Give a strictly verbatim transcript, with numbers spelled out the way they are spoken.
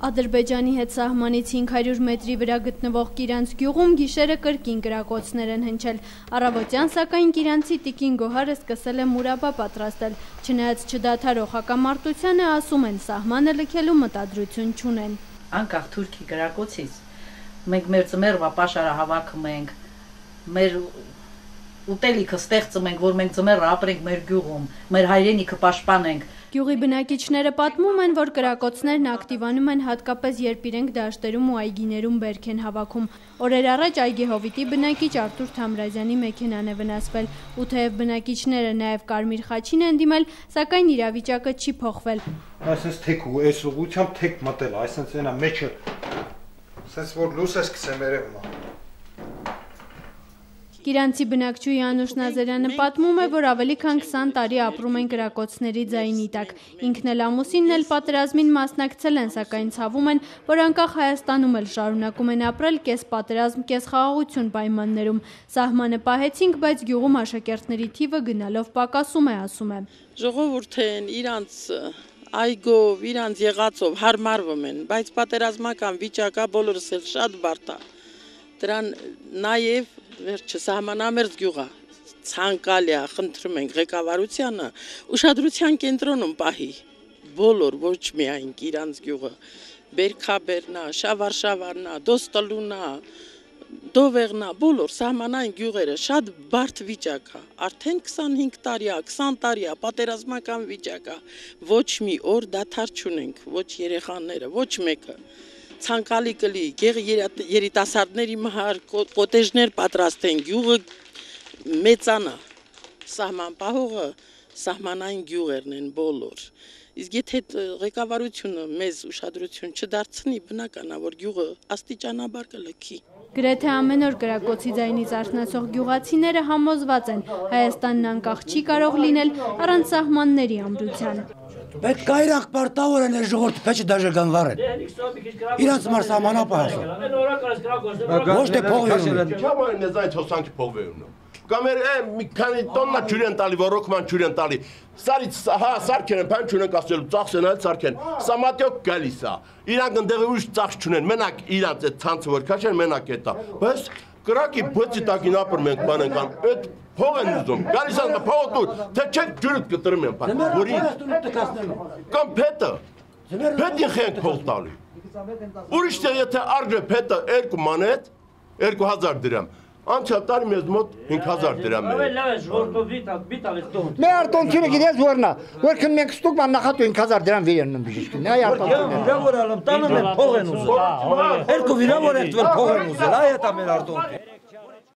Ադրբեջանի հետ սահմանից հինգ հարյուր մետրի վրա գտնվող Կիրանց գյուղում գիշերը կրկին կրակոցներ են հնչել։ Առավոտյան սակայն կիրանցի տիկին Գոհարը սկսել է մուրաբա պատրաստել։ Չնայած չդադարող հակամարտությանը, ասում են, սահմանը լքելու մտադրություն չունեն։ Անկախ Թուրքի կրակոցից մենք մեր ձմեռվա պաշարը հավաքում ենք, մեր ուտելիքը ստեղծում ենք, որ մենք ձմեռը ապրենք մեր գյուղում, մեր հայրենիքը պաշտպանենք։ Գյուղի բնակիչները պատմում են, որ կրակոցներն ակտիվանում են հատկապես երբ իրենք դաշտերում ու այգիներում բերք են հավաքում։ Օրեր առաջ այգեհովիտի բնակիչ Արտուր Թամրազյանի մեքենան է վնասվել, ու թեև բնակիչները նաև Կարմիր խաչին են դիմել, սակայն իրավիճակը չի փոխվել։ Այսպես թեք ու այս ուղությամբ թեք մտել, այսպես այնա մեջը, ասես որ լույս է սկսեմ երևում։ Կիրանցի բնակչուհի Անուշ Նազարյանը պատմում է, որ ավելի քան քսան տարի ապրում են կրակոցների ձայնի տակ։ Ինքն էլ ամուսինն էլ պատերազմին մասնակցել են, սակայն ցավում են, որ անկախ Հայաստանում էլ շարունակում են ապրել կես պատերազմ, կես խաղաղություն պայմաններում։ Սահմանը պահեցինք, բայց գյուղում աշակերտների թիվը գնալով պակասում է, ասում է։ Ժողովուրդն իրանց այգով, իրանց եղածով հարմարվում են, բայց պատերազմական վիճակը բոլորս էլ շատ բարդ է։ Դրան նաև վերջը սահմանամերձ գյուղը ցանկալի է, խնդրում ենք ղեկավարությանը ուշադրության կենտրոնում պահի բոլոր, ոչ միայն իրանց գյուղը, Բերքաբերնա, Շավարշավարնա, Դոստալունա, Դովեղնա, բոլոր սահմանային գյուղերը շատ բարդ վիճակ է, արդեն քսանհինգ տարի է, քսան տարի է, պատերազմական վիճակ է, ոչ մի օր դադար չունենք, ոչ երեխաները, ոչ մեկը։ Ցանկալի կլի երիտասարդների մահար կոտեժներ պատրաստեն, գյուղը մեծանա, սահման պահողը սահմանային գյուղերն են բոլոր։ Իսկ եթե ղեկավարությունը մեզ ուշադրություն չդարձնի, բնական է, որ գյուղը աստիճանաբար կլքի։ Գրեթե ամեն օր կրակոցի ձայնից արթնացող գյուղացիները համոզված են, Հայաստանն անկախ չի կարող լինել առանց սահմանների ամրության։ Պետք է իրենք պարտավորեն է ժողովուրդը պետք է դաժե գանվարեն։ Իրանց մար սահմանապահ։ Ոչ թե փողվերուն։ Չամայն ես այդ հոսանքի փողվերուն։ Կամեր է մի քանի տոննա ջուր են տալի, ռոկման ջուր են տալի։ Սարից հա սարքեն են, բան չունեն ասելու, ծախսեն այդ սարքեն։ Սա մատյոկ գալիս է։ Իրանք ընդեղ ուրիշ ծախս չունեն, մենակ իրանց այդ ցանցը որ քաշեն, մենակ է դա։ Բայց կրակի բոցի տակին ապրում ենք բան են այդ փող են ուզում։ Գալիս են փողը դուր, թե չեք ջուրը կտրում են բան։ Որի կամ փետը։ Փետի խենք փող տալի։ Ուրիշ թե եթե արժե փետը երկու մանետ, երկու հազար դրամ։ Անցյալ տարի մեզ մոտ հինգ հազար դրամ է։ Մեր արտոնքինը գիտես որնա, որքան մենք ստուկ ման նախատու հինգ հազար դրամ վերնում բիժիշկին։ Այ արտոնքինը։ Վիրավորալım տանը մեր փող են ուզում։ Երկու վիրավոր են տվել փող են ուզել, այ դա մեր արտոնքը։